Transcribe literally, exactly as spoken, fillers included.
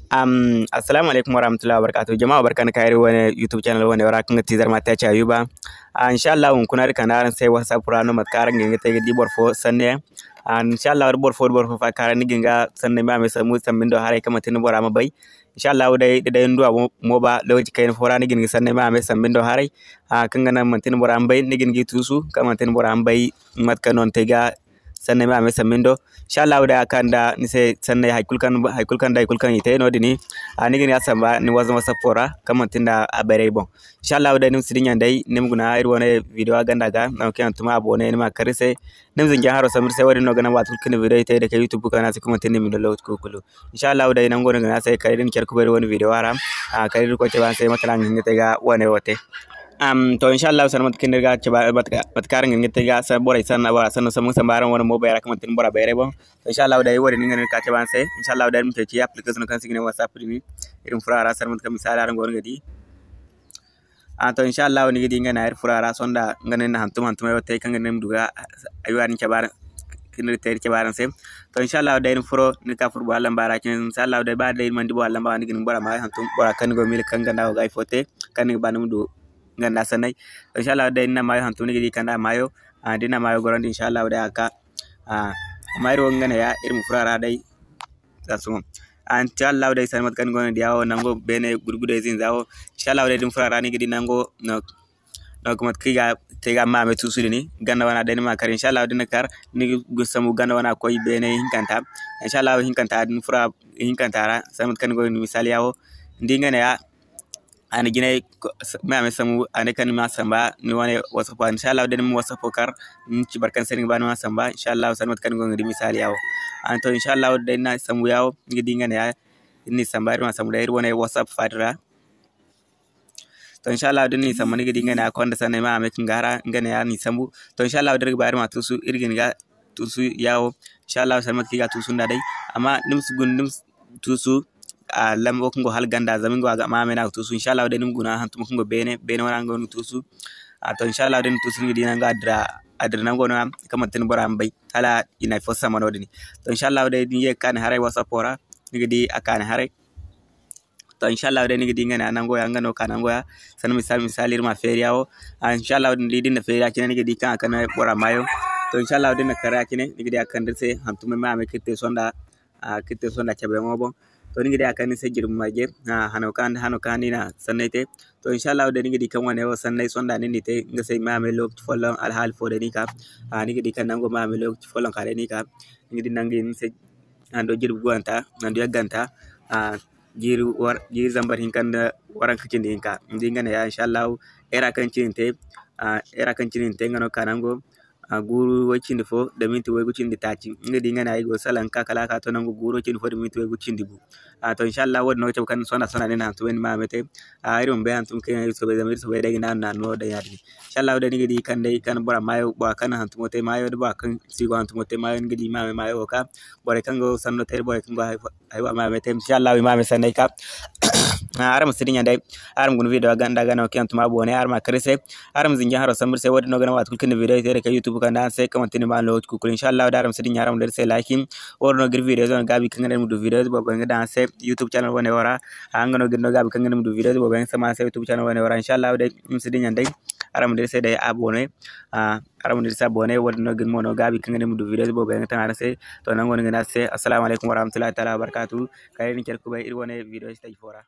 Am, assalamu alaikum warahmatullahi wabarakatuh. Jama'a, barka nda ka iri wane YouTube channel wane ra, kaŋ ga ti Zarma Tech Ayuba. Ah, insha Allah, hunkuna iri kande araŋ se WhatsApp ra no mate kaŋ araŋ ga hin ga te ga di boro fo sanne yaŋ. Ah, insha Allah, boro fo, boro fo fa kaŋ araŋ ni ga hin ga sanne ma me sambu, sambu ndo haray kaŋ manti ni bora ma bay. Insha Allah day, da day ni du a mo, mo ba lokaci kayna fo ra ni ga hin ga sanne ma me sambu ndo haray. Ah, kaŋ ga naŋ manti ni bora ma bay, ni ga hin ga tuusu, kaŋ manti ni bora ma bay mate kaŋ no ni te ga sanney ma a me sambu ndo. Insha Allah day a kaanu nda ni se sanney, hay kulu kaŋ, hay kulu kaŋ da hay kulu kaŋ i te no-din, a ni ga ni a samba ni WhatsApp ra kaŋ manti nda a bayray boŋ. Insha Allah day ni ma si dinya day ni ma guna iri wane video a ganda ga, nangu kaŋ yaŋ tuma abonné ni ma kar iri se. Ni ma zinji haro sambu iri se, wo-din no ga naŋ waati kulu kaŋ ni video i te day kay YouTube kanaala se kaŋ manti ni ma ni lokaci kulu kulu. Insha Allah day nango no ga naŋ a se kala da ni care kubay iri wane video ra. A kala da Irkoy te ba ni se mate no a ga hin ga te ga wane wo te. Am, to, insha Allah, sanda mate kaŋ iri ga cabe, mate ka, mate kaŋ araŋ ga hin ga te ga sa-, borey sanna, bora sanna sambu ga samba araŋ wane mo bayra kaŋ manti ni bora bayray boŋ. To, insha Allah, day wo-din no iri ga ka cabe araŋ se. Insha Allah, day iri ma ceeci application kaŋ se i ga ne WhatsApp din. Iri ma furo a ra sanda mate kaŋ misali araŋ go no ga di. A, to, insha Allah, ni ga di nga ne iri furo a ra sonda nga ne ni na hantum, hantum ay wo te kaŋ ga ne ni ma du ga ay wo-din cabe araŋ, kaŋ iri te iri cabe araŋ se. To, insha Allah, day ni furo, ni ka furo bora lamba ra cine. Insha Allah, day ba day ni mana di bora lamba, ni ga ni bora ma hantum, bora kaŋ ni go ga miila kaŋ ganda go ga hay fo te, kaŋ ni ga ba ni ma du ganda sanney. To, insha Allah, day ni na maayo hantum, ni ga di kaŋ da maayo, a, da ni na maayo gorandi, insha Allah, day a ga ka. A, amma iri wo nga ne ya, iri ma furo a ra day. Za sumo. A, insha Allah, day sanda mate kaŋ ni go no ga di a wo, nango beene gurgudey zinza wo. Insha Allah, day da ni furo a ra, ni ga di nango, no, no, mate kaŋ i ga te ga maamey tuusu din, ganda wana day ni ma kar. Insha Allah, da ni na kar, ni ga sambu ganda wana koy beene hinkanta. Insha Allah, hinkanta, da ni furo hinkanta ra, sanda mate kaŋ ni go ga di misali ya wo. Ni di nga ne ya, a na jinay ko-, s-, me a ma sambu, a ne kaŋ ni ma samba, ni wane WhatsApp ra. Insha Allah, da ni ma WhatsApp kar, ni ci boro kaŋ se ni ga ba ni ma samba. Insha Allah, sanda mate kaŋ ni go ga di misali ya wo. A, to, insha Allah, da ni na sambu ya wo, ni ga di nga ne ya, ni na samba, iri ma sambu da iri wane WhatsApp faadi ra. To, insha Allah, da ni na samba, ni ga di nga ne ya, konda sanney ma a ma ay ka ni ga hara, nga ne ya, ni sambu. To, insha Allah, da iri ga ba iri ma tuusu, iri ga ni ga tuusu ya wo. Insha Allah, sanda mate kaŋ i ga tuusu nda day. Amma ni ma si guna, ni ma si tuusu, a, lambo kaŋ go hala ganda, zama nga wo a ga ma a me no a ga tuusu. Insha Allah, day ni ma guna hantum kaŋ go beene, beene wane nga no ni ga tuusu. A, to, insha Allah, da ni na tuusu, ni ga di nango a dira, a dira nango no ya, kaŋ manti ni bora ma bay, hala i na hay fo sama no-din. To, insha Allah, day da ni ye ga ka ni haray WhatsApp ra, ni ga di a ka ni haray. To, insha Allah, day ni ga di nga ne a nango ya, nga no ka nango ya. Sanda misali, misali, iri ma feeri ya wo. A, insha Allah, da ni di da ni na feeri ya cine, ni ga di kaŋ a kande bora maayo. To, insha Allah, da ni na kar ya cine, ni ga di a kande iri se hantumey ma a me kaŋ iri te sonda, a, kaŋ iri te sonda cabeyaŋo boŋ. To, ni ga di a kande ni se jirbi marje, a, hano kaŋ, hano kaŋ ni na sanney te. To, insha Allah, day ni ga di kaŋ wane wo sanney sonda ni n'i te, nga se ma a me lokaci folloŋ alhaali fo day ni ka. A, ni ga di kaŋ nango ma a me lokaci folloŋ ka day ni ka. Ni ga di nangu ni se hando jirbi goyanta, hando yagganta, a, jiiri war-, jiiri zambar hinka nda waranka cindi hinka. Ni di nga ne ya, insha Allah, era kaŋ cine ni te, a, era kaŋ cine ni te, nga no ka nango, a, guuru way cindi fo, da minti waygu cindi taaci. Ni ga di nga ne ay go salaŋ ka kala a ka to nangu guuru way cindi fo, da minti waygu cindi gu. A, to, insha Allah, wo-din no ga cabe kaŋ sonda, sonda ni na hantumey ni ma a me te. A, iri ma bay hantum kaŋ yaŋ iri soobay, zama iri soobay day ga naanu, naanu no daŋ ya-din. Insha Allah, day ni ga di kaŋ day kaŋ bora maayo, bora kaŋ na hantumo te maayo, da bora kaŋ si go hantumo te maayo, ni ga di i ma a me maayo wo ka. Borey kaŋ go sanno te, borey kaŋ go hay-, haywa ma a me te. Insha Allah, i ma a me sanney ka. Ah, araŋ ma si dinya day, araŋ ma guna video ganda ganda kaŋ yaŋ tuma boone, araŋ ma kar iri se, araŋ ma zinji haro sambu iri se, wo-din no ga naŋ waati kulu kaŋ ni video te day kay YouTube kande araŋ se, kaŋ manti ni ma lokaci kulu. Insha Allah, day araŋ ma si dinya, araŋ ma dira iri se like. Wo-din no ga iri video no gaabi kaŋ ga naŋ ni ma du video boobo yaŋ ga daŋ araŋ se YouTube channel wane wo ra. Ah, nga no ga iri no gaabi kaŋ ga naŋ ni ma du video boobo yaŋ ga sama araŋ se YouTube channel wane wo ra. Insha Allah, day ni ma si dinya day, araŋ ma dira iri se day abonné. Ah, araŋ ma dira iri se abonné, wo-din no ga iri mo no gaabi kaŋ ga naŋ ni ma du video boobo yaŋ ga taŋ araŋ se. To, nango no ga ne araŋ se, assalamu alaikum warahmatullahi ta'ala wabarakatuh. Kala iri na care kubay iri wane video stage fo ra.